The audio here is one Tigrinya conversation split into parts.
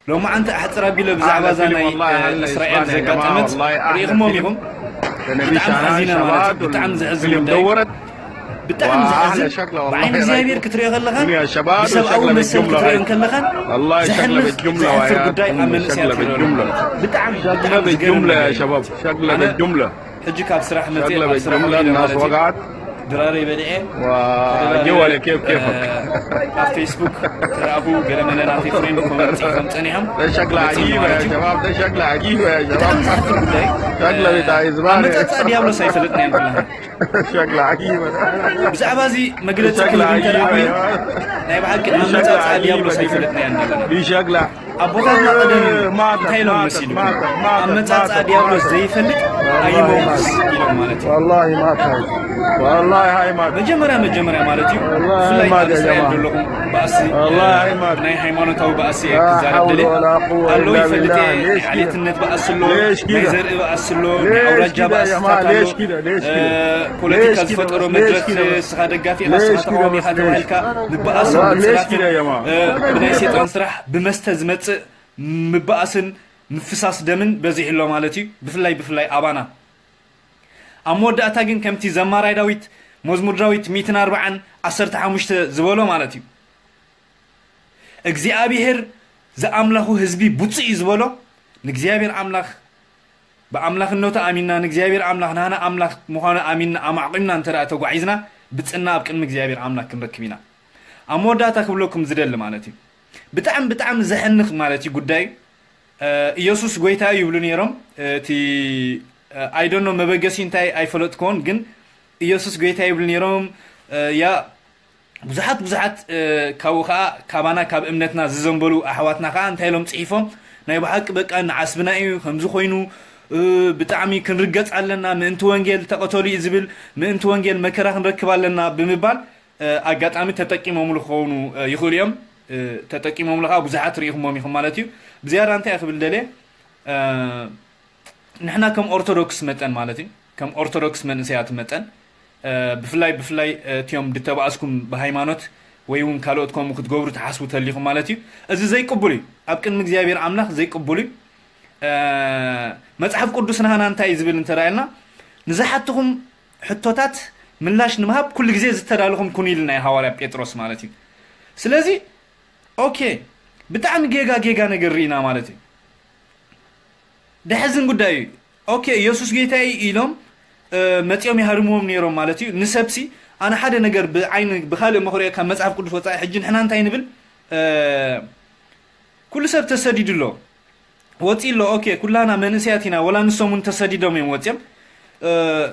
ሎማዓንቲ ኣሕፅር ኣቢለ ብዛዕባ እዛ ናይ እስራኤል ዘጋጠመት ርኢኹሞም ኢኹም። ብጣዕሚ ሓዚነ ማለት እዩ። ብጣዕሚ ዘሕዝን ጉዳይ፣ ብጣዕሚ ዘሕዝን። ብዓይኒ እግዚኣብሔር ክትሪኦ ከለኻን ብሰብኣዊ መሰል ክትሪኦ ከለኻን ዘሕንኽ ዘሕፍር ጉዳይ ኣብ መንእሰያት ይረአ ኣሎ። ብጣዕሚ ብጣዕሚ ዝገርም ነገር እዩ። ኣነ ሕጂ ካብ ስራሕ መፅእ ናብ ስራሕ ውዒለ ማለት እዩ። ድራረይ በሊዐ። ኣብ ፌስቡክ ተረኣኹ ገለ መለ ናተይ ፍሬንድ ኮመንት ከም ፀኒሖም መፂኦም ማለት እዩ። ብጣዕሚ ዘሕፍር ጉዳይ። ኣመፃፅኣ ዲያብሎስ ኣይፈለጥናዮን ኩላህና። ብዛዕባ እዚ መግለፂ ክህብ እንተደኣ ኮይኑ ናይ ብሓቂ ኣመፃፅኣ ዲያብሎስ ኣይፈለጥናዮን ዘለና። ኣቦታትና ቀደም እንታይ ኢሎም መሲሉ? ኣመፃፅኣ ዲያብሎስ ዘይፈልጥ ኣይመውትስ ኢሎም ማለት እዩ። መጀመርያ መጀመርያ ማለት እዩ ብፍላይ ኣብ እስራኤል ዘለኹም ባእሲ ናይ ሃይማኖታዊ ባእሲ እየ ክዛረብ ደልየ። ኣሎ ይፈልጥ እየ። ናይ ዓሌትነት ባእሲ ኣሎ፣ ናይ ዘርኢ ባእሲ ኣሎ፣ ናይ ኣውራጃ ባእስታት ኣሎ። ፖለቲካ ዝፈጠሮ መድረክ ንስኻ ደጋፊ ኢኻ ንስኻ ተቃዋሚ ኢኻ ተባሂልካ ምበኣስን ምፅራፍን ብናይ ሴጣን ስራሕ ብመስተ ዝመፅእ ምበኣስን ምፍሳስ ደምን በዚሑ ኣሎ ማለት እዩ። ብፍላይ ብፍላይ ኣባና ኣብ መወዳእታ ግን ከምቲ ዘማራይ ዳዊት መዝሙር ዳዊት ሚእትን ኣርባዓን ዓሰርተ ሓሙሽተ ዝበሎ ማለት እዩ እግዚኣብሔር ዝኣምላኹ ህዝቢ ብፁዕ እዩ ዝበሎ ንእግዚኣብሔር ኣምላኽ ብኣምላኽነቱ ኣሚንና ንእግዚኣብሔር ኣምላኽ ናህና ኣምላኽ ምዃኑ ኣሚንና ኣማዕቂምና እንተ ተጓዒዝና ብፅና ኣብ ቅድሚ እግዚኣብሔር ኣምላኽ ክንረክብ ኢና። ኣብ መወዳእታ ክብለኩም ዝደሊ ማለት እዩ ብጣዕሚ ብጣዕሚ ዘሕንኽ ማለት እዩ ጉዳይ ኢየሱስ ጎይታ እዩ ይብሉ ነይሮም። እቲ ኣይደኖ መበገሲ እንታይ ኣይፈለጥኮን ግን ኢየሱስ ጎይታ ይብሉ ነይሮም። ያ ብዙሓት ብዙሓት ካብኡ ከዓ ካባና ካብ እምነትና ዝዘንበሉ ኣሕዋትና ከዓ እንታይ ኢሎም ፅሒፎም ናይ ብሓቂ በቃ ንዓስብና እዩ ከምዚ ኮይኑ ብጣዕሚ ክንርገፅ ኣለና ምእንቲ ወንጌል ተቐተሉ እዩ ዝብል ምእንቲ ወንጌል መከራ ክንረክብ ኣለና ብምባል ኣጋጣሚ ተጠቂሞምሉ ክኾኑ ይኽእሉ እዮም። ተጠቂሞምሉ ከዓ ብዙሓት ርኢኹሞም ኢኹም ማለት እዩ። ብዝያዳ እንታይ ክብል ደልየ ንሕና ከም ኦርቶዶክስ መጠን ማለት እዩ ከም ኦርቶዶክስ መንእሰያት መጠን ብፍላይ ብፍላይ እቲዮም ድተባእስኩም ብሃይማኖት ወይ እውን ካልኦት ከምኡ ክትገብሩ ትሓስቡ ተሊኹም ማለት እዩ። እዚ ዘይቅቡል እዩ። ኣብ ቅድሚ እግዚኣብሔር ኣምላኽ ዘይቅቡል እዩ። መፅሓፍ ቅዱስ ናህና እንታይ እዩ ዝብል እንተረኣየልና ንዝሓትኹም ሕቶታት ምላሽ ንምሃብ ኩሉ ግዜ ዝተዳለኹም ኩኑ ኢልና ሃዋርያ ጴጥሮስ ማለት እዩ። ስለዚ ኦኬ ብጣዕሚ ጌጋ ጌጋ ነገር ርኢና ማለት እዩ። ደሕዝን ጉዳይ እዩ። ኦኬ ኢየሱስ ጌታ እዩ ኢሎም መፂኦም ይሃርምዎም ነይሮም ማለት እዩ። ንሰብሲ ኣነ ሓደ ነገር ብዓይኒ ብካልእ መኽሪኦ ካብ መፅሓፍ ቅዱስ ወፃኢ ሕጂ ንሕና እንታይ ንብል ኩሉ ሰብ ተሰዲዱ ኣሎ ወፂ ኣሎ። ኦኬ ኩላና መንእሰያት ኢና ወላ ንሶም እውን ተሰዲዶም እዮም ወፂኦም።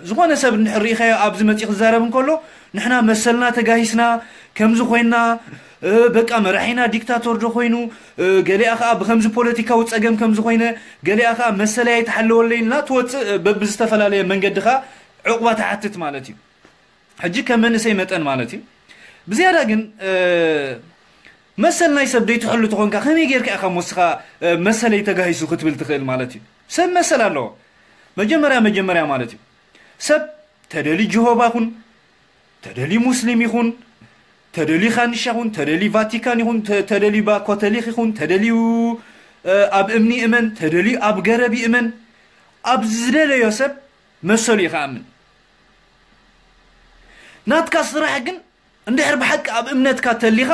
ዝኾነ ሰብ እንድሕር ርኢኻዮ ኣብዚ መፂኡ ክዛረብ እንከሎ ንሕና መሰልና ተጋሂስና ከምዚ ኮይና በቃ መራሒና ዲክታቶር ዶ ኮይኑ ገሊኣ ከዓ ብከምዚ ፖለቲካዊ ፀገም ከምዚ ኮይነ ገሊኣ ከዓ መሰለይ ኣይተሓለወለይ ኢልና ትወፅእ በብዝተፈላለየ መንገዲ ከዓ ዕቁባ ትሓትት ማለት እዩ። ሕጂ ከም መንእሰይ መጠን ማለት እዩ። ብዝያዳ ግን መሰል ናይ ሰብ ደይትሕሉ ተኾንካ ከመይ ጌርካ ኢኻ ሞስኻ መሰለይ ተጋሂሱ ክትብል ትኽእል ማለት እዩ። ሰብ መሰል ኣለዎ። መጀመርያ መጀመርያ ማለት እዩ ሰብ ተደሊ ጅሆባ ይኹን ተደሊ ሙስሊም ይኹን ተደሊ ካንሻ ይኹን ተደሊ ቫቲካን ይኹን ተደሊ ባ ኮተሊክ ይኹን ተደልዩ ኣብ እምኒ እመን ተደልዩ ኣብ ገረብ ይእመን ኣብ ዝደለዮ ሰብ መሰሉ እዩ ክኣምን። ናትካ ስራሕ ግን እንድሕር ብሓቂ ኣብ እምነትካ ተሊኻ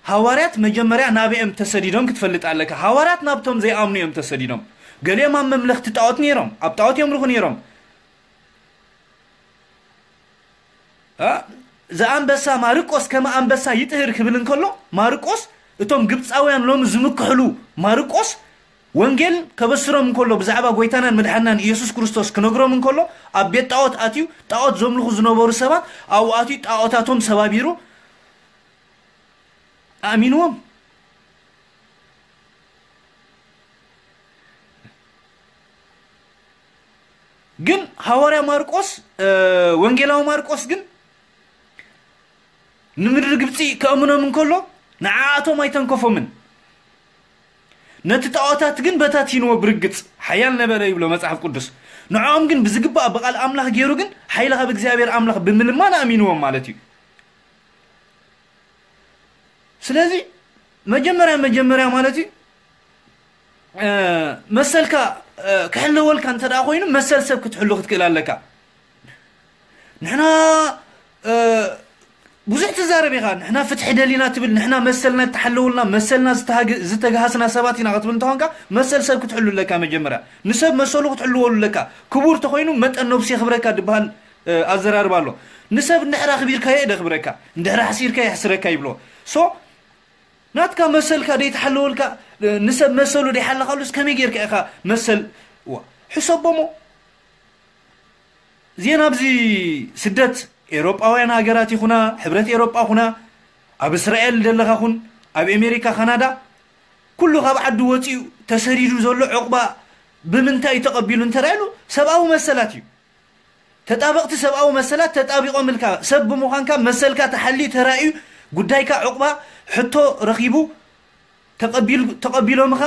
ሃዋርያት መጀመርያ ናበኦም ተሰዲዶም ክትፈልጥ ኣለካ። ሃዋርያት ናብቶም ዘይኣምኑ እዮም ተሰዲዶም። ገሊኦም ኣብ መምለኽቲ ጣዖት ነይሮም፣ ኣብ ጣዖት የምልኹ ነይሮም። ዝኣንበሳ ማርቆስ ከመ ኣንበሳ ይጥህር ክብል እንከሎ ማርቆስ እቶም ግብፃውያን ሎም ዝምክሕሉ ማርቆስ ወንጌል ከበስሮም እንከሎ ብዛዕባ ጎይታናን መድሓናን ኢየሱስ ክርስቶስ ክነግሮም እንከሎ ኣብ ቤት ጣዖት ኣትዩ ጣዖት ዘምልኹ ዝነበሩ ሰባት ኣብኡ ኣትዩ ጣዖታቶም ሰባቢሩ ኣእሚንዎም። ግን ሃዋርያ ማርቆስ ወንጌላዊ ማርቆስ ግን ንምድሪ ግብፂ ከእምኖም እንከሎ ንዓኣቶም ኣይተንከፎምን። ነቲ ጣዖታት ግን በታቲንዎ ብርግፅ ሓያል ነበረ ይብሎ መፅሓፍ ቅዱስ። ንዕኦም ግን ብዝግባእ ብቓል ኣምላኽ ገይሩ ግን ሓይሊ ካብ እግዚኣብሔር ኣምላኽ ብምልማን ኣእሚንዎም ማለት እዩ። ስለዚ መጀመርያ መጀመርያ ማለት እዩ መሰልካ ክሕለወልካ እንተ ደኣ ኮይኑ መሰል ሰብ ክትሕሉ ክትክእል ኣለካ። ንሕና ብዙሕ ትዛረብ ኢኻ። ንሕና ፍትሒ ደሊና ትብል፣ ንሕና መሰልና ተሓለውልና፣ መሰልና ዝተሃግ- ዝተግሃስና ሰባት ኢና ክትብል እንተኾንካ፣ መሰል ሰብ ክትሕሉ ኣለካ። መጀመርያ ንሰብ መሰሉ ክትሕልወሉ ኣለካ። ክቡር ተኾይኑ መጠን ነብሱ የኽብረካ ዝበሃል ኣዘራርባ ኣሎ። ንሰብ እንድሕር ኣኽቢርካዮ የደኽብረካ፣ እንድሕር ኣሕሲርካ የሕስረካ ይብሎ። ሶ ናትካ መሰልካ ደይተሓለወልካ፣ ንሰብ መሰሉ ደይሓለኻሉስ ከመይ ጌርካ ኢኻ መሰል? ዋ፣ ሕሰቦሞ። እዚአን ኣብዚ ስደት ኤውሮጳውያን ሃገራት ይኹና፣ ሕብረት ኤውሮጳ ኩና፣ ኣብ እስራኤል ዘለኻ ኩን፣ ኣብ ኣሜሪካ፣ ካናዳ፣ ኩሉ ካብ ዓዱ ወፂኡ ተሰዲዱ ዘሎ ዕቑባ ብምንታይ እዩ ተቐቢሉ እንተራእሉ ሰብኣዊ መሰላት እዩ። ተጣበቕቲ ሰብኣዊ መሰላት ተጣቢቖምልካ ሰብ ብምዃንካ መሰልካ ተሓልዩ ተራእዩ ጉዳይካ ዕቑባ ሕቶ ረኺቡ ተቐቢል- ተቐቢሎምኻ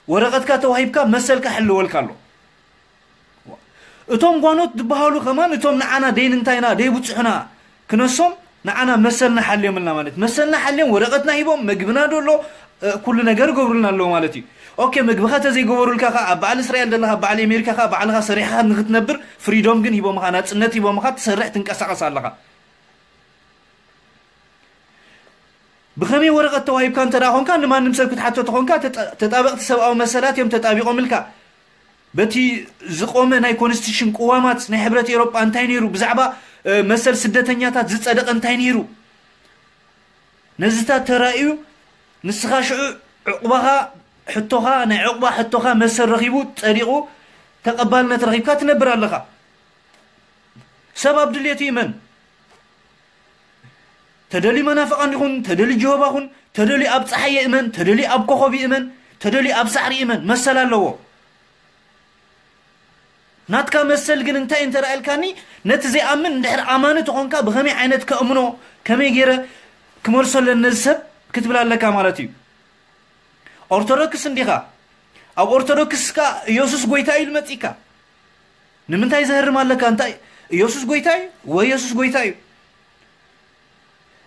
ወረቐትካ ተዋሂብካ መሰልካ ሕልወልካ ኣሎ። እቶም ጓኖት ዝበሃሉ ከማን እቶም ንዓና ደይንንታይና ደይብፅሑና ክነሶም ንዓና መሰልና ሓልዮምልና ማለት መሰልና ሓልዮም ወረቐትና ሂቦም መግብና ዶ ኣሎ ኩሉ ነገር ገብሩልና ኣለዉ ማለት እዩ። ኦኬ፣ መግብኻ ተዘይገበሩልካ ከ ኣብ በዓል እስራኤል ዘለኻ ኣብ በዓል ኣሜሪካ ከ ባዕልኻ ሰሪሕኻ ንክትነብር ፍሪዶም ግን ሂቦምኻ ናፅነት ሂቦምኻ ትሰርሕ ትንቀሳቐስ ኣለኻ። ብኸመይ ወረቐት ተዋሂብካ እንተ ደኣ ኾንካ ንማንም ሰብ ክትሓቶ ተኾንካ ተጣበቕቲ ሰብኣዊ መሰላት እዮም ተጣቢቖምልካ። በቲ ዝቆመ ናይ ኮንስቲቱሽን ቅዋማት ናይ ሕብረት ኤውሮጳ እንታይ ነይሩ? ብዛዕባ መሰል ስደተኛታት ዝጸደቐ እንታይ ነይሩ? ነዚታት ተራእዩ ንስኻ ሽዑ ዕቑባኻ ሕቶኻ ናይ ዕቑባ ሕቶኻ መሰል ረኺቡ ጸዲቑ ተቐባልነት ረኺብካ ትነብር ኣለኻ። ሰብ ኣብ ድሌቱ ይመን። ተደልዩ መናፍቓን ይኹን ተደልዩ ጀሆባ ኹን ተደልዩ ኣብ ፀሓይ ይእመን ተደልዩ ኣብ ኮኸብ ይእመን ተደልዩ ኣብ ሳዕሪ ይእመን መሰል ኣለዎ። ናትካ መሰል ግን እንታይ እንተረኣየልካኒ ነቲ ዘይኣምን እንድሕር ኣማኒ ተኾንካ ብኸመይ ዓይነት ከእምኖ ከመይ ገይረ ክመልሶ ኣለኒ ነዚ ሰብ ክትብል ኣለካ ማለት እዩ። ኦርቶዶክስ እንዲኻ ኣብ ኦርቶዶክስካ ኢየሱስ ጎይታ እዩ ልመፂካ። ንምንታይ ዘህርም ኣለካ እንታይ ኢየሱስ ጎይታ እዩ ወይ ኢየሱስ ጎይታ እዩ?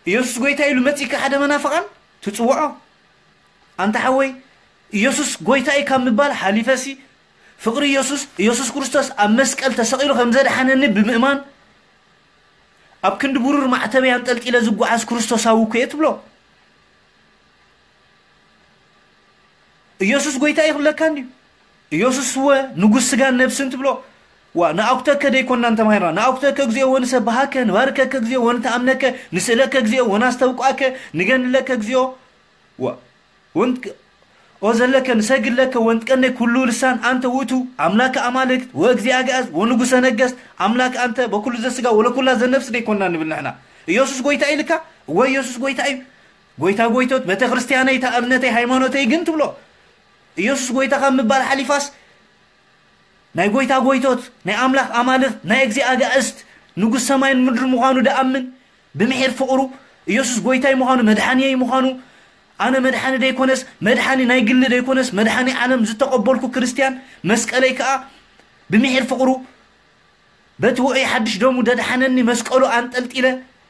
ኢየሱስ ጎይታ ኢሉ መጺካ ሓደ መናፍቓን ትጽውዖ? ኣንታ ሓወይ ኢየሱስ ጎይታ እዩ ካብ ምባል ሓሊፈሲ ፍቕሪ ኢየሱስ ኢየሱስ ክርስቶስ ኣብ መስቀል ተሰቒሉ ከም ዘድሓነኒ ብምእማን ኣብ ክንዲ ብሩር ማዕተበይ ኣንጠልጢለ ዝጓዓዝ ክርስቶሳዊ እኮ እየ ትብሎ። ኢየሱስ ጎይታ እዩ ክብለካ እንድዩ። ኢየሱስ እወ ንጉስ ስጋን ነብስን ትብሎ። ዋ ንኣኩተከ ደይኮናን ተማሂርና ንኣኩተከ እግዚኣብኦ ንሰብሃከ ንባርከከ እግዚኣብኦ ንተኣምነከ ንስእለከ እግዚኣብኦ ወናስተብቋከ ንገንለከ እግዚኣብኦ ዋ ወንት ኦ ዘለከ ንሰግድ ለከ ወንጥቀነ ኩሉ ልሳን ኣንተ ውእቱ ኣምላከ ኣማልክት ወእግዚአ ኣግኣዝ ወንጉሰ ነገስት ኣምላክ ኣንተ በኩሉ ዘስጋ ወለኩላ ዘነፍስ ደይኮና ንብል ንሕና። ኢየሱስ ጎይታ ኢልካ እወ ኢየሱስ ጎይታ እዩ። ጎይታ ጎይቶት ቤተ ክርስቲያነይ እታ እምነተይ ሃይማኖተይ ግን ትብሎ። ኢየሱስ ጎይታ ካብ ምባል ሓሊፋስ ናይ ጎይታ ጎይቶት ናይ ኣምላኽ ኣማልኽ ናይ እግዚኣብሔር ኣጋእዝት ንጉስ ሰማይን ምድሪ ምዃኑ ደኣምን ብምሒር ፍቕሩ ኢየሱስ ጎይታይ ምዃኑ መድሓንየይ ምዃኑ ኣነ መድሓኒ ደይኮነስ መድሓኒ ናይ ግሊ ደይኮነስ መድሓኒ ዓለም ዝተቐበልኩ ክርስትያን መስቀለይ ከኣ ብምሒር ፍቕሩ በቲ ውዑይ ሓድሽ ደሙ ደድሓነኒ መስቀሉ ኣንጠልጢለ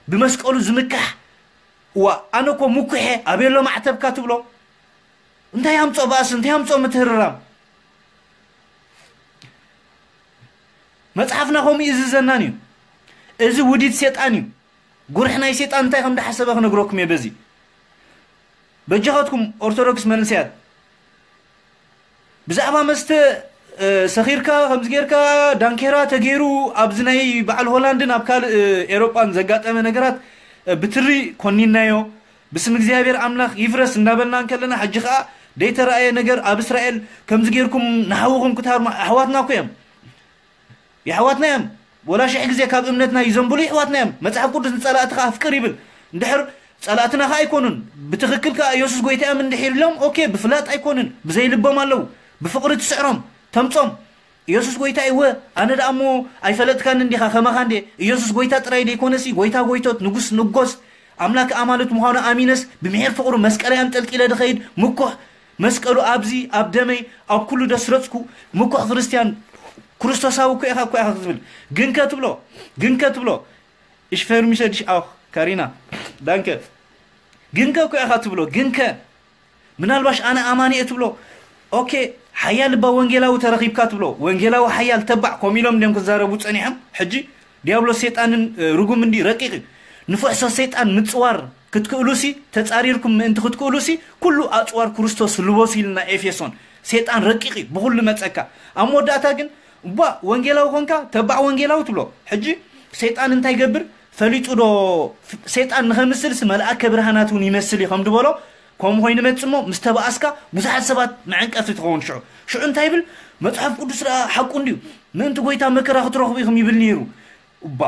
ብመስቀሉ ዝምካሕ እዋ ኣነ እኮ ምኩሐ ኣቤሎ ማዕተብካ ትብሎ እንታይ ኣምጾ ባእሲ እንታይ ኣምጾ ምትህርራም መጽሓፍና ከምኡ እዩ ዝዘናን እዩ እዚ ውዲት ሴጣን እዩ ጉርሕ ናይ ሴጣን እንታይ ከም ደሓሰበ ክነግረኩም እየ በዚ በጃኻትኩም ኦርቶዶክስ መንእሰያት ብዛዕባ መስተ ሰኺርካ ከምዚ ጌርካ ዳንኬራ ተገይሩ ኣብዚ ናይ በዓል ሆላንድን ኣብ ካልእ ኤሮጳን ዘጋጠመ ነገራት ብትሪ ኮኒናዮ ብስም እግዚኣብሔር ኣምላኽ ይፍረስ እንዳበልና እንከለና ሕጂ ኸዓ ደይተራእየ ነገር ኣብ እስራኤል ከምዚ ጌርኩም ንሓውኹም ክትሃርሙ ኣሕዋትና እኮ እዮም የሕዋትና እዮም ወላ ሽሕ ግዜ ካብ እምነትና ይዘንብሉ የሕዋትና እዮም መፅሓፍ ቅዱስ ንፀላእትኻ ኣፍቅር ይብል እንድሕር ፀላእትና ኸዓ ኣይኮኑን ብትኽክል ከዓ ኢየሱስ ጎይታ እዮም እንድሒር ኢሎም ኦኬ ብፍላጥ ኣይኮኑን ብዘይልቦም ኣለዉ ብፍቕሪ ትስዕሮም ተምፆም ኢየሱስ ጎይታ እወ ኣነ ደኣ እሞ ኣይፈለጥካን እንዲኻ ከማኻ እንዴ ኢየሱስ ጎይታ ጥራይ ደይኮነሲ ጎይታ ጎይቶት ንጉስ ንጎስ ኣምላክ ኣማልት ምዃኑ ኣሚነስ ብምሒር ፍቕሩ መስቀለይ ኣንጠልጢለ ድኸይድ ምኩሕ መስቀሉ ኣብዚ ኣብ ደመይ ኣብ ኩሉ ደስረጽኩ ምኩሕ ክርስትያን ክርስቶሳዊ እኮ ኢኻ እኮ ኢኻ ክትብል ግንከ ትብሎ ግንከ ትብሎ ich vermisse dich auch Karina danke ግንከ እኮ ኢኻ ትብሎ ግንከ ምናልባሽ ኣነ ኣማኒ እየ ትብሎ ኦኬ፣ ሓያል እባ ወንጌላዊ ተረኺብካ ትብሎ። ወንጌላዊ ሓያል፣ ተባዕ፣ ከምኡ ኢሎም እንዲዮም ክዛረቡ ጸኒሖም። ሕጂ ዲያብሎስ ሰይጣንን፣ እ፣ ርጉም እንዲ ረቂቕ እዩ። ንፉሕ ሰብ ሰይጣን ምጽዋር ክትክእሉሲ፣ ተጻሪርኩም ምእንቲ ክትክእሉሲ፣ ኩሉ ኣጽዋር ክርስቶስ ልበሱ ኢልና ኤፌሶን። ሰይጣን ረቂቕ እዩ፣ ብኹሉ መጸካ። ኣብ መወዳእታ ግን፣ እባ ወንጌላዊ ኮንካ፣ ተባዕ ወንጌላዊ ትብሎ። ሕጂ ሰይጣን እንታይ ይገብር? ፈሊጡ ዶ? ሰይጣን ንኸምስልሲ መልኣከ ብርሃናት እውን ይመስል እዩ፣ ከም ዝበሎ፣ ከምኡ ኮይኑ መጽሞ ምስ ተባኣስካ ብዙሓት ሰባት መዐንቀፊ ትኸውን። ሽዑ ሽዑ እንታይ ይብል? መጽሓፍ ቅዱስ ደኣ ሓቁ እንድዩ፣ ምእንቲ ጎይታ መከራ ክትረኽቡ ኢኹም ይብል ነይሩ። እባ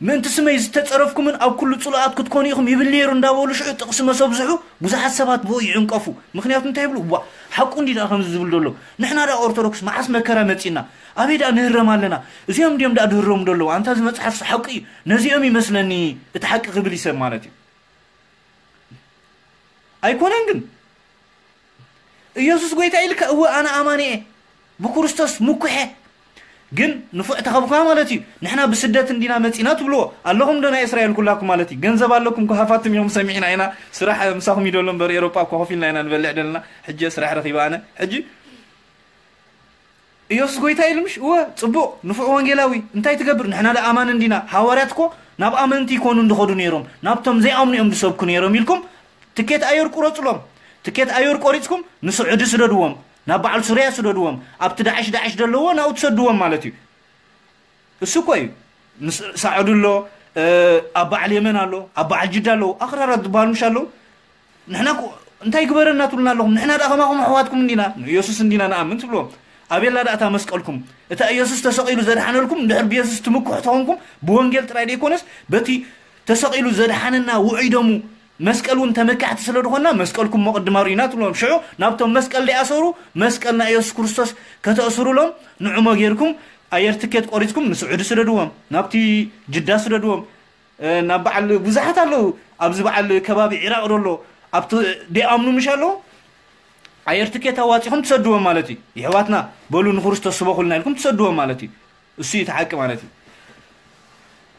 ምእንቲ ስመይ ዝተጸረፍኩምን ኣብ ኩሉ ጽሉኣት ክትኮኑ ኢኹም ይብል ነይሩ እንዳበሉ ሽዑ ጥቕሲ መሰብዝሑ ብዙሓት ሰባት ብኡ ይዕንቀፉ። ምኽንያቱ እንታይ ይብሉ? እባ ሓቁ እንዲ ደኣ ከምዚ ዝብል ዘሎ? ንሕና ደኣ ኦርቶዶክስ መዓስ መከራ መጺና? ኣበይ ደኣ ንህረም ኣለና? እዚኦም እንዲዮም ደኣ ድህረሙ ዘለዉ። ኣንታ እዚ መጽሓፍሲ ሓቁ እዩ፣ ነዚኦም ይመስለኒ እቲ ሓቂ ክብል ይሰብ ማለት እዩ። ኣይኮነን ግን ኢየሱስ ጎይታ ኢልካ፣ እወ ኣነ ኣማኒ እየ፣ ብክርስቶስ ምኩሐ። ግን ንፉዕ ተኸብካ ማለት እዩ። ንሕና ብስደት እንዲና መጺና ትብልዎ ኣለኹም ዶ? ናይ እስራኤል ኩላኩም ማለት እዩ። ገንዘብ ኣለኩም፣ ሃፋትም እዮም፣ ሰሚዕና ኢና። ስራሕ ምሳኹም ይደሎ እምበር፣ ኤሮጳ እኮ ኮፍ ኢልና ኢና ንበልዕ ደለና። ሕጂ ስራሕ ረኺበ ኣነ። ሕጂ ኢየሱስ ጎይታ ኢሉ ምሽ? እወ፣ ጽቡቕ፣ ንፉዕ ወንጌላዊ። እንታይ ትገብር? ንሕና ደኣ ኣማን እንዲና። ሃዋርያት እኮ ናብ ኣመንቲ ይኮኑ እንድኸዱ ነይሮም፣ ናብቶም ዘይኣምኑ እዮም ዝሰብኩ ነይሮም ኢልኩም ትኬት ኣየር ቁረጽሎም። ትኬት ኣየር ቆሪጽኩም ንስዑዲ ስደድዎም፣ ናብ በዓል ሱርያ ስደድዎም፣ ኣብቲ ዳዕሽ ዳዕሽ ዘለዎ ናብኡ ትሰድዎም ማለት እዩ። እሱ እኮ እዩ። ምስ ሳዑዲ ኣሎ፣ እ፣ ኣብ በዓል የመን ኣሎ፣ ኣብ በዓል ጅዳ ኣለዉ። ኣኽራራት ዝበሃሉ ምሽ ኣለዉ። ንሕና እኮ እንታይ ግበረና ትብሉና ኣለኹም? ንሕና ደኣ ከማኹም ኣሕዋትኩም እንዲና፣ ንኢየሱስ እንዲና ንኣምን ትብልዎም። ኣቤላ ደኣ እታ መስቀልኩም፣ እታ ኢየሱስ ተሰቒሉ ዘድሓነልኩም፣ እንድሕር ብኢየሱስ ትምክሑ ተኾንኩም፣ ብወንጌል ጥራይ ደይኮነስ፣ በቲ ተሰቒሉ ዘድሓነና ውዑይ ደሙ መስቀል እውን ተመካሕቲ ስለ ዝኾንና፣ መስቀልኩም መቕድማ ርኢና ትብልዎም። ሽዑ ናብቶም መስቀል ደይኣሰሩ፣ መስቀል ናይ ኢየሱስ ክርስቶስ ከተእስሩሎም፣ ንዑ መጌርኩም ኣየር ትኬት ቆሪጽኩም ንስዑዲ ስደድዎም፣ ናብቲ ጅዳ ስደድዎም። እ፣ ናብ በዓል ብዙሓት ኣለዉ። ኣብዚ በዓል ከባቢ ዒራቕ ደሎ ኣብቲ ደይኣምኑ ምሽ ኣለዉ። ኣየር ትኬት ኣዋጺኹም ትሰድዎም ማለት እዩ። የሕዋትና በሉ ንክርስቶስ ስበኹልና ኢልኩም ትሰድዎም ማለት እዩ። እሱ እዩ እቲ ሓቂ ማለት እዩ።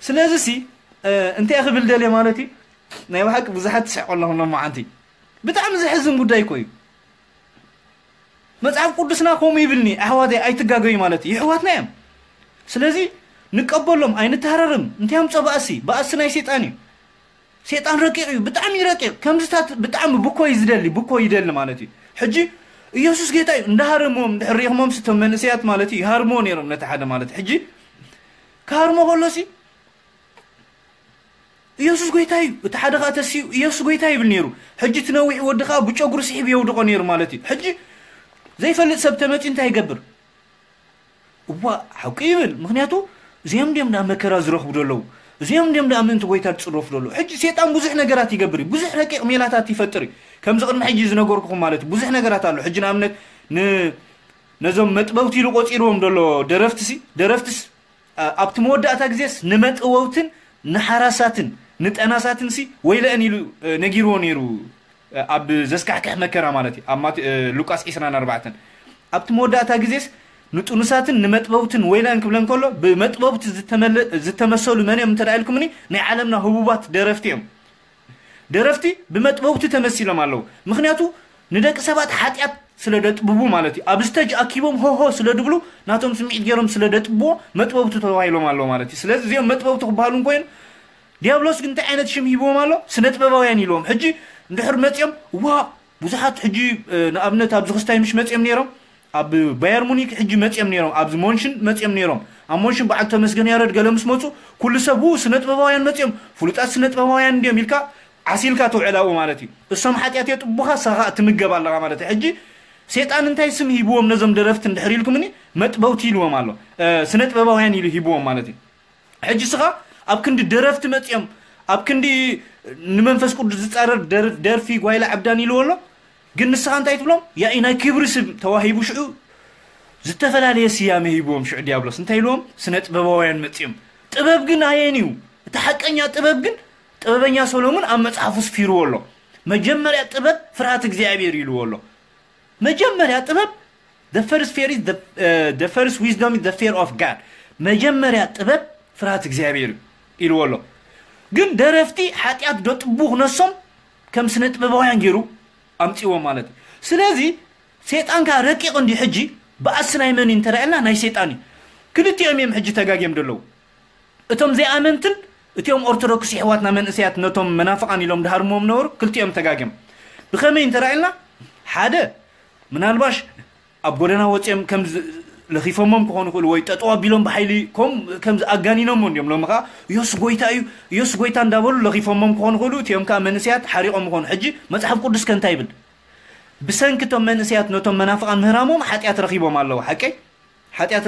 ስለዚ ሲ፣ እ፣ እንታይ ክብል ደልየ ማለት እዩ? ናይ ብሓቂ ብዙሓት ትስሕቁ ኣለኹም ሎማዓንቲ። ብጣዕሚ ዘሕዝን ጉዳይ እኮ እዩ። መጽሓፍ ቅዱስና ከምኡ ይብልኒ፣ ኣሕዋተይ ኣይትጋገዩ ማለት እዩ። የሕዋትና እዮም። ስለዚ ንቀበሎም፣ ኣይንተሃረርም። እንታይ ኣምጾ ባእሲ? ባእሲ ናይ ሰይጣን እዩ። ሰይጣን ረቂቕ እዩ፣ ብጣዕሚ ረቂቕ። ከምዚታት ብጣዕሚ ብኮይ ዝደሊ፣ ብኮይ ይደሊ ማለት እዩ። ሕጂ ኢየሱስ ጌታ እዩ። እንዳሃረምዎም እንድሕር ሪእኽሞም ስቶም መንእሰያት ማለት እዩ፣ ይሃርምዎ ነይሮም ነቲ ሓደ ማለት። ሕጂ ክሃርሞ ከሎሲ ኢየሱስ ጎይታ እዩ። እቲ ሓደ ኸኣ ተሲኡ ኢየሱስ ጎይታ ይብል ነይሩ። ሕጂ እቲ ነዊሕ ወዲ ኸኣ ብጨጉሪ ስሒቡ የውድቖ ነይሩ ማለት እዩ። ሕጂ ዘይፈልጥ ሰብ ተመጺኡ እንታይ ይገብር? እዋ፣ ሓቂ ይብል። ምኽንያቱ እዚኦም ድዮም ደኣ መከራ ዝረኽቡ ዘለዉ? እዚኦም ድዮም ደኣ ምእንቲ ጎይታ ዝጽረፉ ዘለዉ? ሕጂ ሰይጣን ብዙሕ ነገራት ይገብር እዩ። ብዙሕ ረቂቕ ሜላታት ይፈጥር እዩ። ከምዚ ቅድሚ ሕጂ ዝነገርኩኹም ማለት እዩ። ብዙሕ ነገራት ኣሎ። ሕጂ ንኣብነት ን-፣ ነዞም መጥበብቲ ኢሉ ቆጺርዎም ዘሎ ደረፍትሲ፣ ደረፍትስ ኣ-፣ ኣብቲ መወዳእታ ግዜስ ንመጥበውትን ንሓራሳትን ንጠናሳትን ሲ ወይለአን ኢሉ፣ እ፣ ነጊርዎ ነይሩ፣ እ፣ ኣብ ዘስካሕክሕ መከራ ማለት እዩ። ኣብ ማቴ-፣ እ፣ ሉቃስ ዕስራን ኣርባዕተን። ኣብቲ መወዳእታ ግዜስ ንጥኑሳትን ንመጥበውትን ወይለአን ክብለን ከሎ፣ ብመጥበውቲ ዝተመለ-፣ ዝተመሰሉ መን እዮም እንተ ደኣ ኢልኩምኒ፣ ናይ ዓለምና ህቡባት ደረፍቲ እዮም። ደረፍቲ ብመጥበውቲ ተመሲሎም ኣለዉ። ምኽንያቱ ንደቂ ሰባት ሓጢኣት ስለ ደጥብቡ ማለት እዩ። ኣብ ስተጅ ኣኪቦም ሆሆ ስለ ድብሉ ናቶም ስምዒት ገይሮም ስለ ደጥብዎ መጥበውቲ ተባሂሎም ኣለዉ ማለት እዩ። ስለዚ እዚኦም መጥበውቲ ክበሃሉ እንኮይኑ ዲያብሎስ ግን እንታይ ዓይነት ሽም ሂብዎም ኣሎ? ስነ ጥበባውያን ኢልዎም። ሕጂ እንድሕር መጺኦም ዋ ብዙሓት ሕጂ፣ እ፣ ንኣብነት ኣብዚ ክስታይ ምሽ መጺኦም ነይሮም፣ ኣብ ባየር ሙኒክ ሕጂ መጺኦም ነይሮም፣ ኣብዚ ሞንሽን መጺኦም ነይሮም። ኣብ ሞንሽን በዓል ተመስገን ያረድ ገለ ምስ መጹ ኩሉ ሰብ ው ስነ ጥበባውያን መጺኦም፣ ፍሉጣት ስነ ጥበባውያን እንድዮም ኢልካ ዓሲልካ ትውዕል ኣብኡ ማለት እዩ። እሶም ሓጢኣት የጥቡኻ፣ ንስኻ ትምገብ ኣለኻ ማለት እዩ። ሕጂ ሴጣን እንታይ ስም ሂብዎም ነዞም ደረፍቲ እንድሕር ኢልኩምኒ፣ መጥበውቲ ኢልዎም ኣሎ። እ፣ ስነ ጥበባውያን ኢሉ ሂብዎም ማለት እዩ። ሕጂ ንስኻ ኣብ ክንዲ ደረፍቲ መጺኦም፣ ኣብ ክንዲ ንመንፈስ ቅዱስ ዝጻረር ደር-፣ ደርፊ ጓይላ ዕብዳን ኢልዎ ኣሎ። ግን ንስኻ እንታይ ትብሎም? ያኢ ናይ ክብሪ ስም ተዋሂቡ ሽዑ ዝተፈላለየ ስያመ ሂብዎም። ሽዑ ዲያብሎስ እንታይ ኢልዎም? ስነ ጥበባውያን መጺኦም። ጥበብ ግን ኣየን እዩ? እቲ ሓቀኛ ጥበብ ግን ጥበበኛ ሰሎሞን ኣብ መጽሓፉ ስፊርዎ ኣሎ። መጀመርያ ጥበብ ፍርሃት እግዚኣብሔር ኢልዎ ኣሎ። መጀመርያ ጥበብ፣ the first fear is the, uh, the first wisdom is the fear of God። መጀመርያ ጥበብ ፍርሃት እግዚኣብሔር እዩ ኢልዎ ኣሎ። ግን ደረፍቲ ሓጢኣት ደጥቡ ክነሶም ከም ስነ ጥበባውያን ገይሩ ኣምጺዎ ማለት እዩ። ስለዚ ሰይጣን ከኣ ረቂቕ እንዲ ሕጂ ብኣስ ናይ መን እዩ እንተራእልና ናይ ሰይጣን እዩ። ክልቲኦም እዮም ሕጂ ተጋግዮም ዘለዉ። እቶም ዘይኣመንትን እቲኦም ኦርቶዶክስ የሕዋትና መንእሰያት ነቶም መናፍቓን ኢሎም ድሃርሞም ነበሩ። ክልቲኦም ተጋግዮም። ብኸመይ እንተራእልና ሓደ ምናልባሽ ኣብ ጎደና ወፂኦም ከም ለኺፎሞም ክኾኑ ይኽእሉ ወይ ጠጠው ኣቢሎም ብሓይሊ ከም ከም ኣጋኒኖሞ እንዲዮም። ሎሚ ከዓ ኢየሱስ ጎይታ እዩ፣ ኢየሱስ ጎይታ እንዳበሉ ለኺፎሞም ክኾኑ ይኽእሉ። እቲኦም ከዓ መንእሰያት ሓሪቖም ይኾኑ። ሕጂ መፅሓፍ ቅዱስ ከ እንታይ ይብል? ብሰንኪ እቶም መንእሰያት ነቶም መናፍቓን ምህራሞም ሓጢኣት ረኺቦም ኣለዉ። ሓቀይ ሓጢኣት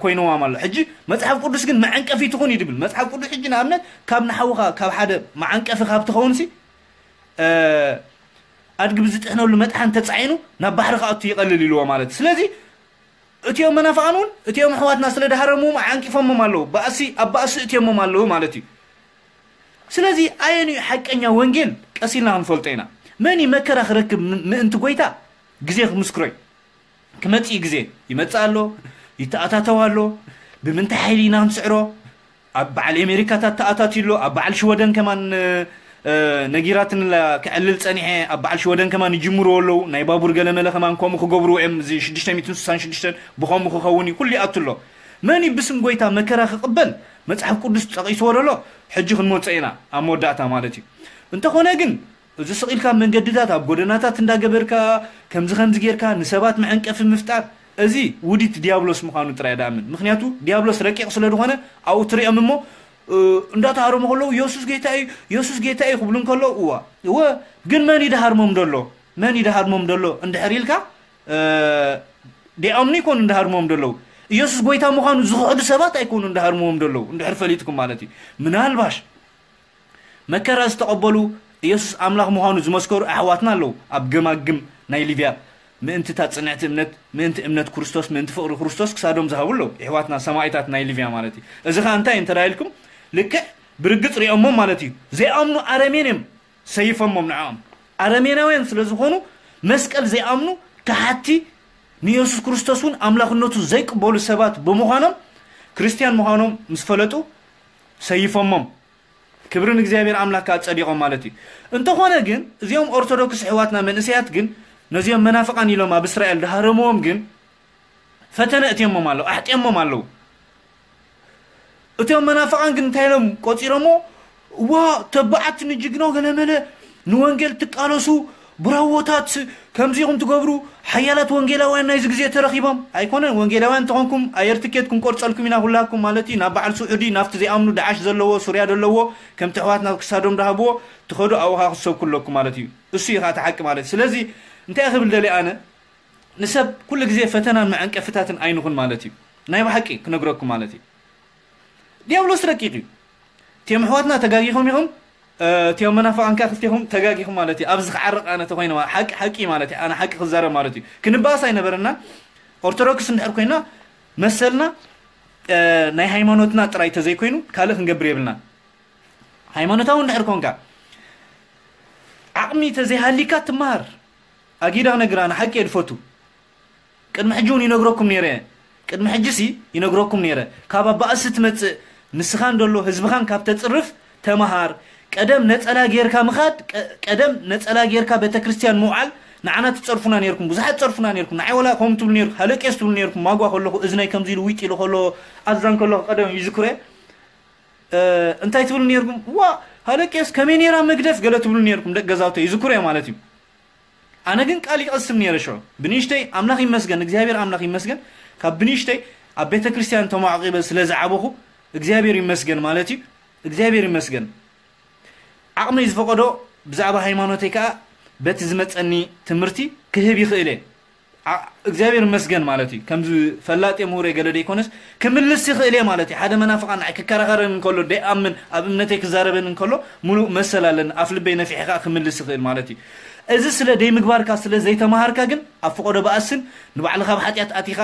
ኮይንዋም ኣሎ። ሕጂ መፅሓፍ ቅዱስ ግን መዐንቀፊ ትኹን እዩ ድብል። መፅሓፍ ቅዱስ ሕጂ ንኣብነት ካብ ንሓውኻ ካብ ሓደ መዓንቀፊ ካብ ትኸውን ሲ ኣድጊ ብዝጥሕነሉ መጥሓን ተፃዒኑ ናብ ባሕሪ ክኣቱ ይቐልል ኢልዎ ማለት እዩ። ስለዚ እቲኦም መናፍቓን እውን እቲኦም ኣሕዋትና ስለ ድሃረምዎም ዓንቂፎሞም ኣለዉ። ባእሲ ኣብ ባእሲ እትዮሞም ኣለዉ ማለት እዩ። ስለዚ ኣየንኡ ሓቀኛ ወንጌል ቀስ ኢልና ክንፈልጦ ኢና። መን እዩ መከራ ክረክብ ምእንቲ ጎይታ ግዜ ክምስክሮ እዩ። ክመጽእ ግዜ ይመጽእ ኣሎ፣ ይተኣታተው ኣሎ። ብምንታይ ሓይሊ ኢና ክንስዕሮ? ኣብ በዓል ኣሜሪካታት ተኣታትዩ ኣሎ፣ ኣብ በዓል ሽወደን ከማን ነጊራትንላ ክዕልል ጸኒሐ። ኣብ በዓል ሽወደን ከማን ይጅምርዎ ኣለዉ። ናይ ባቡር ገለመለ ከማን ከምኡ ክገብርዎ እዮም። እዚ ሽዱሽተ ሚእትን ስሳን ሽዱሽተን ብኸምኡ ክኸውን እዩ። ኩሉ ይኣቱ ኣሎ። መን እዩ ብስም ጎይታ መከራ ክቕበል? መጽሓፍ ቅዱስ ጠቒስዎ ደሎ ሕጂ ክንመጾ ኢና ኣብ መወዳእታ ማለት እዩ። እንተኾነ ግን እዚ ስቕ ኢልካ መንገድታት ኣብ ጎደናታት እንዳገበርካ ከምዚ ከምዚ ጌርካ ንሰባት መዐንቀፊ ምፍጣር እዚ ውዲት ዲያብሎስ ምዃኑ ጥራይ ደኣምን። ምኽንያቱ ዲያብሎስ ረቂቕ ስለ ዝኾነ ኣብኡ ትሪኦም እሞ እንዳተሃረሙ ከለዉ የሱስ ጌታ እዩ፣ የሱስ ጌታ እዩ ክብሉ እንከለዉ እዋ እወ ግን መን ይደሃርሞም ደሎ? መን ይደሃርሞም ደሎ እንድሕር ኢልካ ዲኣምኑ ይኮኑ እንዳሃርሞም ደለዉ። ኢየሱስ ጎይታ ምዃኑ ዝኽሕዱ ሰባት ኣይኮኑ እንዳሃርምዎም ደለዉ። እንድሕር ፈሊጥኩም ማለት እዩ። ምናልባሽ መከራ ዝተቐበሉ ኢየሱስ ኣምላኽ ምዃኑ ዝመስከሩ ኣሕዋትና ኣለዉ ኣብ ገማግም ናይ ሊብያ። ምእንቲ እታ ጽንዕቲ እምነት፣ ምእንቲ እምነት ክርስቶስ፣ ምእንቲ ፍቕሪ ክርስቶስ ክሳዶም ዝሃቡ ኣለዉ። ኣሕዋትና ሰማኢታት ናይ ሊብያ ማለት እዩ። እዚ ኸኣ እንታይ እንተ ኢልኩም ልክዕ ብርግጽ ሪኦሞም ማለት እዩ። ዘይኣምኑ ኣረሜን እዮም ሰይፎሞም ንዕኦም። ኣረሜናውያን ስለ ዝኾኑ መስቀል ዘይኣምኑ ከሓቲ ንኢየሱስ ክርስቶስ እውን ኣምላኽነቱ ዘይቅበሉ ሰባት ብምዃኖም ክርስትያን ምዃኖም ምስ ፈለጡ ሰይፎሞም። ክብሪ ንእግዚኣብሔር ኣምላክ ከኣ ጸዲቖም ማለት እዩ። እንተኾነ ግን እዚኦም ኦርቶዶክስ ኣሕዋትና መንእሰያት ግን ነዚኦም መናፍቓን ኢሎም ኣብ እስራኤል ድሃረምዎም ግን ፈተነ እትዮሞም ኣለዉ፣ ኣሕጢኦሞም ኣለዉ። እቶም መናፍቓን ግን እንታይ ኢሎም ቆጺሮሞ? ዋ ተባዓት ንጅግኖ ገለመለ ንወንጌል ትቃለሱ ብራዎታት ከምዚ ኢኹም ትገብሩ ሓያላት ወንጌላውያን ናይዚ ግዜ ተረኺቦም ኣይኮነን። ወንጌላውያን እንተኾንኩም ኣየር ትኬት ክንቆርጸልኩም ኢና ኩላኩም ማለት እዩ። ናብ በዓል ስዑዲ ናብቲ ዘይኣምኑ ደዓሽ ዘለዎ ሱርያ ዘለዎ ከምቲ ኣሕዋትና ክሳዶም ዳሃብዎ ትኸዱ ኣብኻ ክትሰብኩ ኣለኩም ማለት እዩ። እሱ እዩ ከዓ እቲ ሓቂ ማለት እዩ። ስለዚ እንታይ ክብል ደልየ ኣነ ንሰብ ኩሉ ግዜ ፈተናን መዐንቀፍታትን ኣይንኹን ማለት እዩ። ናይ ብሓቂ ክነግረኩም ማለት እዩ። ዲያብሎስ ረቂቕ እዩ። እቲኦም ኣሕዋትና ተጋጊኹም ኢኹም፣ እቲኦም መናፍቓን ከኣ ክልቴኹም ተጋጊኹም ማለት እዩ። ኣብዚ ክዓርቕ ኣነ ተኾይነ ማለት ሓቂ ሓቂ ማለት እዩ። ኣነ ሓቂ ክዛረብ ማለት እዩ። ክንበኣስ ኣይነበረና። ኦርቶዶክስ እንድሕር ኮይና መሰልና ናይ ሃይማኖትና ጥራይ ተዘይኮይኑ ካልእ ክንገብር የብልና። ሃይማኖታዊ እንድሕር ኮንካ ዓቕሚ ተዘይሃሊካ ትመሃር። ኣጊዳ ክነግር ኣነ ሓቂ እየ ድፈቱ። ቅድሚ ሕጂ እውን ይነግረኩም ነይረ። ቅድሚ ሕጂ ሲ ይነግረኩም ነይረ። ካብ ኣባእሲ ትመጽእ ንስኻን ደሎ ህዝብኻን ካብ ተጽርፍ ተመሃር። ቀደም ነጸላ ጌርካ ምኻድ፣ ቀደም ነጸላ ጌርካ ቤተክርስትያን ምውዓል ንዓና ትጸርፉና ነይርኩም። ብዙሓት ትጸርፉና ነይርኩም። ንዓይ ወላ ከምኡ ትብሉ ነይርኩም። ሃለቄስ ትብሉ ነይርኩም። ማጓ ከለኹ እዝነይ ከምዚ ኢሉ ዊጥ ኢሉ ከሎ ኣዛን ከለኹ ቀደም ይዝክሮ እየ። እንታይ ትብሉ ነይርኩም? ዋ ሃለቄስ ከመይ ነይራ መግደፍ ገለ ትብሉ ነይርኩም። ደቂ ገዛውተይ ይዝክሮ እየ ማለት እዩ። ኣነ ግን ቃል ይቐስም ነይረ ሽዑ ብንእሽተይ። ኣምላኽ ይመስገን፣ እግዚኣብሔር ኣምላኽ ይመስገን። ካብ ብንእሽተይ ኣብ ቤተ ክርስቲያን ተማዕቂበ ስለ ዝዓበኹ እግዚኣብሔር ይመስገን ማለት እዩ። እግዚኣብሔር ይመስገን። ዓቕመይ ዝፈቐዶ ብዛዕባ ሃይማኖተይ ከዓ በቲ ዝመፀኒ ትምህርቲ ክህብ ይኽእል እየ። እግዚኣብሔር ይመስገን ማለት እዩ። ከምዚ ፈላጥ እየ ምሁር እየ ገለ ዘይኮነስ ክምልስ ይኽእል እየ ማለት እዩ። ሓደ መናፍቓን ንዓይ ክከራኸረኒ እንከሎ ደይኣምን ኣብ እምነተይ ክዛረበኒ እንከሎ ሙሉእ መሰል ኣለኒ። ኣፍ ልበይ ነፊሐ ከዓ ክምልስ ይኽእል ማለት እዩ። እዚ ስለ ደይምግባርካ ስለ ዘይተማሃርካ ግን ኣብ ፈቐዶ በኣስን ንባዕልኻ ኣብ ሓጢኣት ኣቲኻ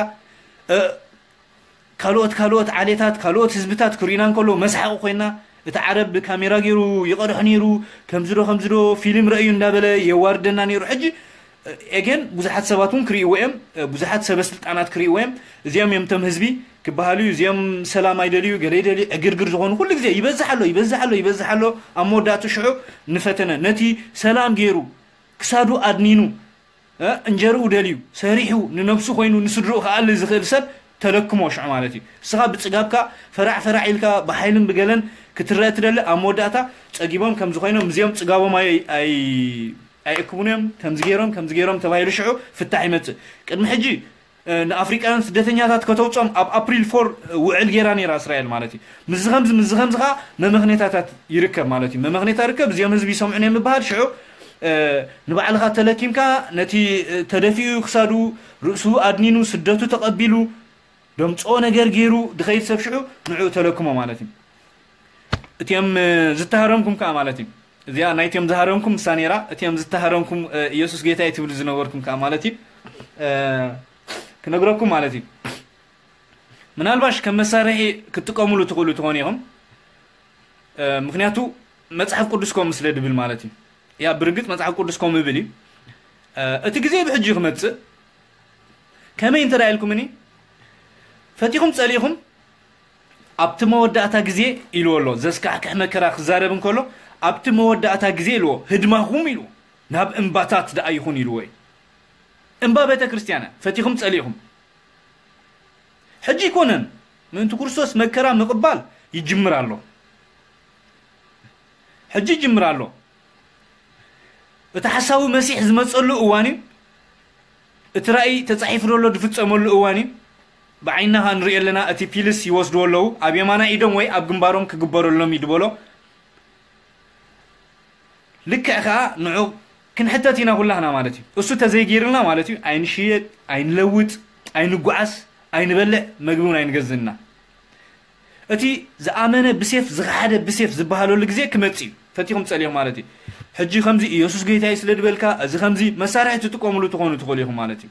ካልኦት ካልኦት ዓሌታት ካልኦት ህዝብታት ክርእዩና እንከሎ መስሓቂ ኮይና እቲ ዓረብ ብካሜራ ገይሩ ይቐድሖ ነይሩ ከምዚ ዶ ከምዚ ዶ ፊልም ረእዩ እንዳበለ የዋርደና ነይሩ። ሕጂ ኤገን ብዙሓት ሰባት እውን ክርእይዎ እዮም። ብዙሓት ሰበ ስልጣናት ክርእይዎ እዮም። እዚኦም እዮም እቶም ህዝቢ ክበሃሉ እዩ። እዚኦም ሰላም ኣይደልዩ ገለ ይደልዩ ዕግርግር ዝኾኑ ኩሉ ግዜ ይበዝሕ ኣሎ ይበዝሕ ኣሎ ይበዝሕ ኣሎ። ኣብ መወዳእቱ ሽዑ ንፈተነ ነቲ ሰላም ገይሩ ክሳዱ ኣድኒኑ እ፣ እንጀርኡ ደልዩ ሰሪሑ ንነብሱ ኮይኑ ንስድርኡ ክኣሊ ዝኽእል ሰብ ተለክሞ ሽዑ ማለት እዩ። እስኻ ብጽጋብካ ፈራዕ ፈራዕ ኢልካ ብሓይልን ብገለን ክትረአ ትደሊ፣ ኣብ መወዳእታ ጸጊቦም ከምዚ ኮይኖም እዚኦም ጽጋቦም ኣይ-፣ ኣይ-፣ ኣይእክቡን እዮም፣ ከምዚ ገይሮም ከምዚ ገይሮም ተባሂሉ ሽዑ ፍታሕ ይመጽእ። ቅድሚ ሕጂ እ፣ ንኣፍሪቃውያን ስደተኛታት ከተውፅኦም ኣብ ኣፕሪል ፎር ውዕል ገይራ ነይራ እስራኤል ማለት እዩ። ምስዚ ከምዚ ምስዚ ከምዚ ከዓ መመኽኔታታት ይርከብ ማለት እዩ። መመኽኔታ ርከብ እዚኦም ህዝቢ ይሰምዑን እዮም ምበሃል ሽዑ እ፣ ንባዕልኻ ተለኪምካ ነቲ እ፣ ተደፊኡ ክሳዱ ርእሱ ኣድኒኑ ስደቱ ተቐቢሉ ደምፅኦ ነገር ገይሩ ድኸይድ ሰብ ሽዑ ንዕኡ ተለክሞ ማለት እዩ። እቲኦም እ፣ ዝተሃረምኩም ከዓ ማለት እዩ። እዚኣ ናይቲኦም ዝሃረምኩም ምሳ ነይራ። እቲኦም ዝተሃረምኩም እ፣ ኢየሱስ ጌታ እዩ ትብሉ ዝነበርኩም ከዓ ማለት እዩ። እ፣ ክነግረኩም ማለት እዩ። ምናልባሽ ከም መሳርሒ ክትጥቀሙሉ ትኽእሉ ትኾኑ ኢኹም። እ፣ ምክንያቱ መጽሓፍ ቅዱስ ከምኡ ስለ ድብል ማለት እዩ። ያ ብርግጽ መጽሓፍ ቅዱስ ከምኡ ይብል እዩ። እ፣ እቲ ግዜ ብሕጂ ክመጽእ ከመይ እንተ ኢልኩምኒ ፈቲኹም ጸሊእኹም ኣብቲ መወዳእታ ግዜ ኢልዎ ኣሎ። ዘስካሕክሕ መከራ ክዛረብ እንከሎ ኣብቲ መወዳእታ ግዜ ኢልዎ ህድማኹም ኢልዎ ናብ እምባታት ደኣ ይኹን ኢልዎ እዩ። እምባ ቤተ ክርስቲያን እያ። ፈቲኹም ጸሊእኹም ሕጂ ኣይኮነን ምእንቲ ክርስቶስ መከራ ምቕባል ይጅምር ኣሎ። ሕጂ ይጅምር ኣሎ። እቲ ሓሳዊ መሲሕ ዝመጸሉ እዋን እዩ። እቲ ራእይ ተጻሒፉ ዘሎ ዝፍጸመሉ እዋን እዩ። ብዓይንና ኸኣ ንሪኦ ኣለና። እቲ ፒልስ ይወስድዎ ኣለዉ። ኣብ የማናይ ኢዶም ወይ ኣብ ግንባሮም ክግበረሎም እዩ ዝበሎ። ልክዕ ከኣ ንዑ ክንሕተት ኢና ኩላህና ማለት እዩ። እሱ ተዘይገይርልና ማለት እዩ ኣይንሽየጥ፣ ኣይንለውጥ፣ ኣይንጓዓስ፣ ኣይንበልዕ፣ መግቢ እውን ኣይንገዝእና። እቲ ዝኣመነ ብሴፍ ዝኸሓደ ብሴፍ ዝበሃለሉ ግዜ ክመጽእ እዩ። ፈቲኹም ጸሊኹም ማለት እዩ። ሕጂ ከምዚ ኢየሱስ ጌታ እዩ ስለ ዝበልካ እዚ ከምዚ መሳርሒ ትጥቀምሉ ትኾኑ ትኽእሉ ኢኹም ማለት እዩ።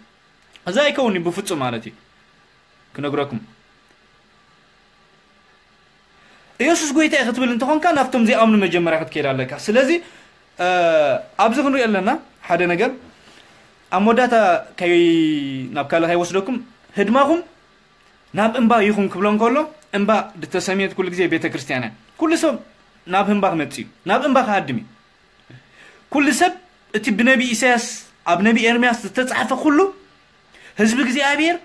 እዚ ኣይከውን እዩ ብፍጹም ማለት እዩ። ክነግረኩም ኢየሱስ ጎይታ እዩ ክትብል እንተኾንካ ናብቶም ዘይኣምኑ መጀመርያ ክትከይድ ኣለካ። ስለዚ እ፣ ኣብዚ ክንሪኦ ኣለና ሓደ ነገር ኣብ መወዳእታ ከይ ናብ ካልእ ከይወስደኩም ህድማኹም ናብ እምባ ይኹን ክብሎ እንከሎ እምባ ዝተሰምየት ኩሉ ግዜ ቤተ ክርስቲያን እያ። ኩሉ ሰብ ናብ ህምባ ክመጽእ እዩ፣ ናብ እምባ ክሃድም እዩ። ኩሉ ሰብ እቲ ብነቢ ኢሳያስ ኣብ ነቢ ኤርምያስ ዝተጻሕፈ ኩሉ ህዝቢ እግዚኣብሔር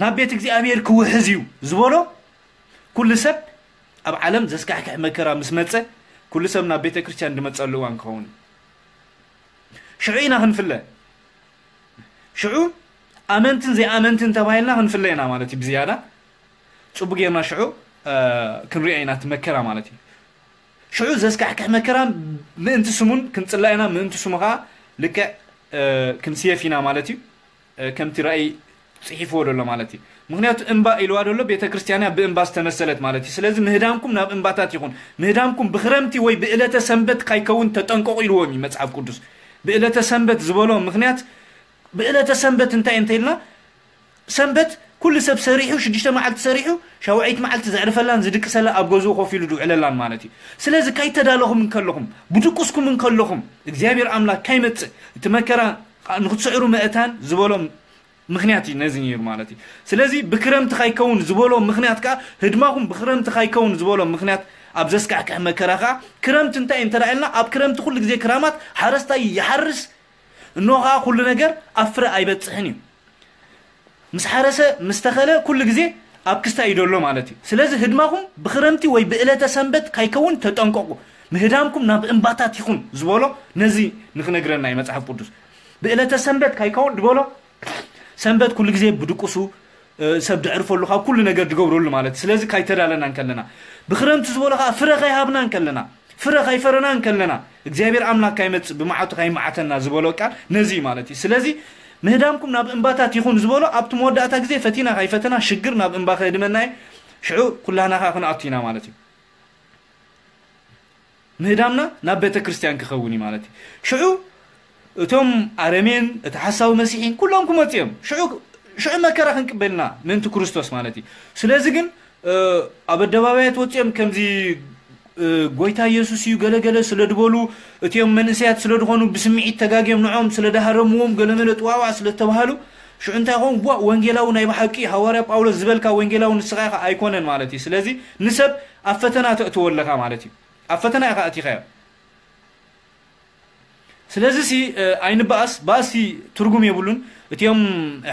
ናብ ቤት እግዚኣብሔር ክውሕዝ እዩ ዝበሎ ኩሉ ሰብ ኣብ ዓለም ዘስካሕክሕ መከራ ምስ መጸ ኩሉ ሰብ ናብ ቤተ ክርስቲያን ዝመጸሉ እዋን ክኸውን እዩ። ሽዑ ኢና ክንፍለ። ሽዑ ኣመንትን ዘይኣመንትን ተባሂልና ክንፍለ ኢና ማለት እዩ። ብዝያዳ ጽቡቅ ጌርና ሽዑ እ፣ ክንሪኦ ኢና እቲ መከራ ማለት እዩ። ሽዑ ዘስካሕክሕ መከራ ምእንቲ ስሙን ክንጽላእ ኢና፣ ምእንቲ ስሙ ከዓ ልክዕ እ፣ ክንስየፍ ኢና ማለት እዩ። እ፣ ከምቲ ራእይ ጽሒፍዎ ዘሎ ማለት እዩ። ምክንያቱ እምባ ኢልዋ ዘሎ ቤተ ክርስቲያን እያ ብእምባ ዝተመሰለት ማለት እዩ። ስለዚ ምህዳምኩም ናብ እምባታት ይኹን። ምህዳምኩም ብክረምቲ ወይ ብዕለተ ሰንበት ካይከውን ተጠንቀቑ ኢልዎም እዩ መጽሓፍ ቅዱስ። ብዕለተ ሰንበት ዝበሎ ምክንያት ብዕለተ ሰንበት እንታይ እንተ ኢልና ሰንበት ኩሉ ሰብ ሰሪሑ ሽዱሽተ መዓልቲ ሰሪሑ ሻውዐይቲ መዓልቲ ዘዕርፈላን ዝድቅሰላ ኣብ ገዝኡ ኮፍ ኢሉ ዝውዕለላን ማለት እዩ። ስለዚ ካይተዳለኹም እንከለኹም ብድቁስኩም እንከለኹም እግዚኣብሔር ኣምላክ ካይመጽእ እቲ መከራ ንክትስዕሩ መእታን ዝበሎ ምክንያት እዩ ነዚ ነይሩ ማለት እዩ። ስለዚ ብክረምቲ ካይከውን ዝበሎ ምክንያት ከዓ ህድማኹም ብክረምቲ ካይከውን ዝበሎ ምክንያት ኣብ ዘስካሕክሕ መከራ ከዓ ክረምቲ እንታይ እንተረኣየልና ኣብ ክረምቲ ኩሉ ግዜ ክራማት ሓረስታይ ይሓርስ እኖ ከዓ ኩሉ ነገር ኣብ ፍረ ኣይበፅሕን እዩ። ምስ ሓረሰ ምስ ተኸለ ኩሉ ግዜ ኣብ ክስታ እዩ ደሎ ማለት እዩ። ስለዚ ህድማኹም ብክረምቲ ወይ ብእለተ ሰንበት ካይከውን ተጠንቀቁ። ምህዳምኩም ናብ እምባታት ይኹን ዝበሎ ነዚ ንክነግረና እዩ መፅሓፍ ቅዱስ። ብእለተ ሰንበት ካይከውን ዝበሎ ሰንበት ኩሉ ግዜ ብድቁሱ ሰብ ድዕርፈሉ ካብ ኩሉ ነገር ድገብረሉ ማለት እዩ። ስለዚ ካይተዳለና እንከለና ብክረምቲ ዝበሎ ከዓ ፍረ ካይሃብና እንከለና ፍረ ካይፈረና እንከለና እግዚኣብሔር ኣምላክ ካይመፅእ ብመዓቱ ካይመዓተና ዝበሎ ቃል ነዚ እዩ ማለት እዩ። ስለዚ ምህዳምኩም ናብ እምባታት ይኹን ዝበሎ ኣብቲ መወዳእታ ግዜ ፈቲና ካይፈተና ሽግር ናብ እምባ ከድመና እዩ። ሽዑ ኩላህና ከዓ ክንኣቱ ኢና ማለት እዩ። ምህዳምና ናብ ቤተ ክርስቲያን ክኸውን እዩ ማለት እዩ። ሽዑ እቶም ኣረሜን እቲ ሓሳዊ መሲሒን ኩሎም ክመፁ እዮም። ሽዑ ሽዑ መከራ ክንቅበልና ምእንቲ ክርስቶስ ማለት እዩ። ስለዚ ግን ኣብ ኣደባባያት ወፂኦም ከምዚ ጎይታ ኢየሱስ እዩ ገለገለ ስለ ዝበሉ እቲኦም መንእሰያት ስለ ዝኾኑ ብስምዒት ተጋግዮም ንዖም ስለ ዳሃረምዎም ገለመለ ጥዋዋዕ ስለ ተባሃሉ ሽዑ እንታይ ኾን ዋ ወንጌላዊ ናይ ብሓቂ ሃዋርያ ጳውሎስ ዝበልካ ወንጌላዊ ንስኻ ኢኻ ኣይኮነን ማለት እዩ። ስለዚ ንሰብ ኣብ ፈተና ተእትዎ ኣለኻ ማለት እዩ። ኣብ ፈተና ኢኻ ኣቲኻዮ። ስለዚ ሲ ኣይንበኣስ፣ ባእሲ ትርጉም የብሉን። እቲኦም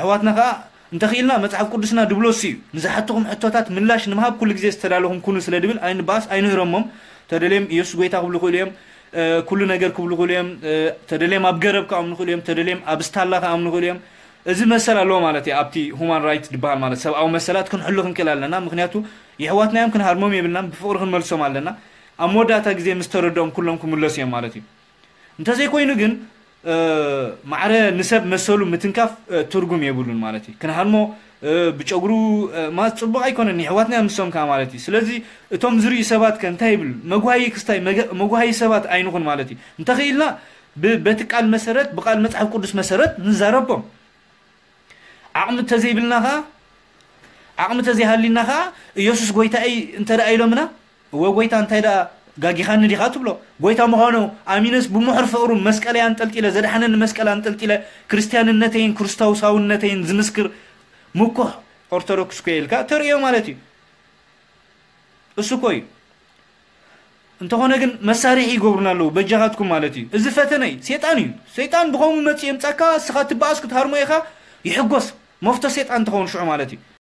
ኣሕዋትና ከዓ እንተኽኢልና መፅሓፍ ቅዱስና ድብሎ እሱ እዩ። ንዝሓትኹም ሕቶታት ምላሽ ንምሃብ ኩሉ ግዜ ዝተዳለኹም ኩኑ ስለ ድብል ኣይንበኣስ፣ ኣይንህረሞም። ተደልዮም ኢየሱስ ጎይታ ክብሉ ይኽእሉ እዮም። ኩሉ ነገር ክብሉ ይኽእሉ እዮም። ተደልዮም ኣብ ገረብ ክኣምኑ ይኽእሉ እዮም። ተደልዮም ኣብ ስታላ ክኣምኑ ይኽእሉ እዮም። እዚ መሰል ኣለዎ ማለት እዩ። ኣብቲ ሁማን ራይት ዝበሃል ማለት ሰብኣዊ መሰላት ክንሕሉ ክንክእል ኣለና። ምክንያቱ የሕዋትና እዮም፣ ክንሃርሞም የብልናን፣ ብፍቕሪ ክንመልሶም ኣለና። ኣብ መወዳእታ ግዜ ምስ ተረድኦም ኩሎም ክምለሱ እዮም ማለት እዩ። እንተዘይኮይኑ ግን ማዕረ ንሰብ መሰሉ ምትንካፍ ትርጉም የብሉን ማለት እዩ። ክንሃርሞ ብጨጉሩ ማለት ፅቡቕ ኣይኮነን። የሕዋትና እዮም ንሶም ከዓ ማለት እዩ። ስለዚ እቶም ዝርእዩ ሰባት ከ እንታይ ይብል? መጓሃይ ክስታይ መጓሃይ ሰባት ኣይንኹን ማለት እዩ። እንተኽኢልና በቲ ቃል መሰረት፣ ብቃል መፅሓፍ ቅዱስ መሰረት ንዛረቦም። ዓቕሚ እንተዘይብልና ከዓ ዓቕሚ እንተዘይሃሊና ከዓ ኢየሱስ ጎይታ እዩ እንተ ደኣ ኢሎምና፣ እወ ጎይታ እንታይ ደኣ ጋጊኻኒ ዲኻ ትብሎ? ጎይታ ምዃኑ ኣሚነስ ብምሕር ፍቕሩ መስቀለይ ኣንጠልጢለ፣ ዘድሓነኒ መስቀል ኣንጠልጢለ፣ ክርስትያንነተይን ክርስቶሳውነተይን ዝምስክር ምኩሕ ኦርቶዶክስ ኮየ ኢልካ ተርእዮ ማለት እዩ። እሱ እኮ እዩ። እንተኾነ ግን መሳርሒ ይገብሩና ኣለዉ በጃኻትኩም ማለት እዩ። እዚ ፈተነ እዩ። ሴጣን እዩ። ሴጣን ብኸምኡ መፂኡ የምፃካ፣ እስኻ ትበኣስ ክትሃርሞ ኢኻ፣ ይሕጎስ። መፍቶ ሴጣን ትኸውን ሽዑ ማለት እዩ።